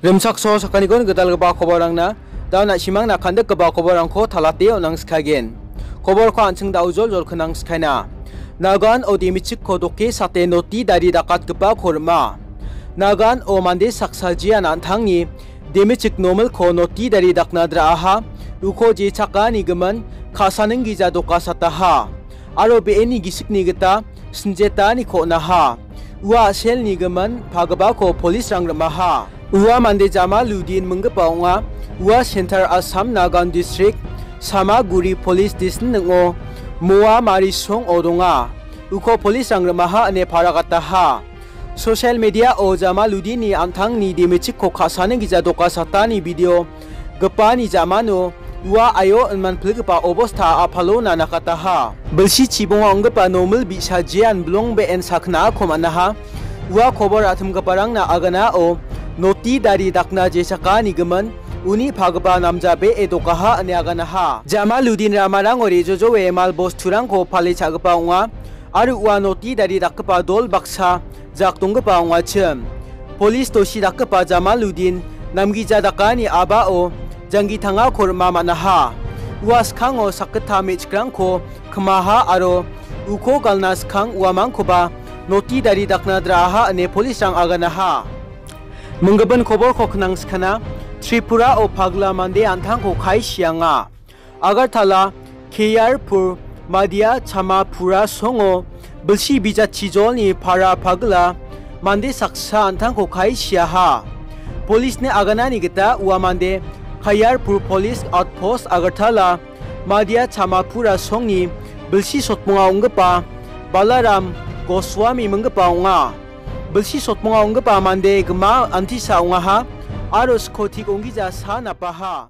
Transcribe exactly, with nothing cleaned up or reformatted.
Rimchakso sakaniko gitalgipa koborangna, da na·simangna kandikgipa koborangko talate on·angskagen. Koborko an·ching da ujol jol knangskaina. Nagan o demichikko doke sate noti dari dakatgipako rima. Nagan o mande saksa jean an·tangni demichik nomilko noti dari dakna dra·aha, uko jechakani gimin ka·saning gija dokasataha. Aro be·eni gisikni gita sinjetaniko on·aha. Ua a·selni gimin pagipako polisrang rimaha. Ua mande Jamaludin minggipa ong·a. Ua Central Assam Nagan District, Samaguri Police Station ning·o Moa Marisong-o donga. Uko polisrang rimaha ine paragataha. Social media-o Jamaludinni an·tangni demichikko ka·sani gija dokasatani video gipani jamano ua aio inman pilgipa obosta a·palona nakataha. Bilsi chibonga ong·gipa nomil bi·sa jean bilong be·en saknako man·aha. Ua kobor a·timgiparangna aganao noti dari dakna jechakani gimin uni pagipa namja be·e dokaha ine aganaha. Jamaludin ramarango re·jojoe mal bosturangko pale cha·gipa ong·a. Aro ua noti dari dakgipa dol baksa jak donggipa ong·achim. Polis dosi dakgipa Jamaludin namgija dakani a·bao janggi tangako rima man·aha. Ua skango sakgittam me·chikrangko kmaha aro uko galna skang uamangkoba noti dari dakna dra·aha ine polisrang aganaha. Minggipin koborko knangskana, Tripurao pagla mande an·tangko kae sianga. Agartala, K R Pur, Madia Chamapura songo bilsi bijatchijolni para pagla mande saksa an·tangko kae siaha. Polisni aganani gita ua mande K R Pur Police Outpost Agartala, Madia Chamapura songni bilsi sotmonga ong·gipa Balaram Goswami minggipa ong·a. Bilsi sotmonga ong·gipa mande gima antisa ong·aha aro skotik onggija sa napaha.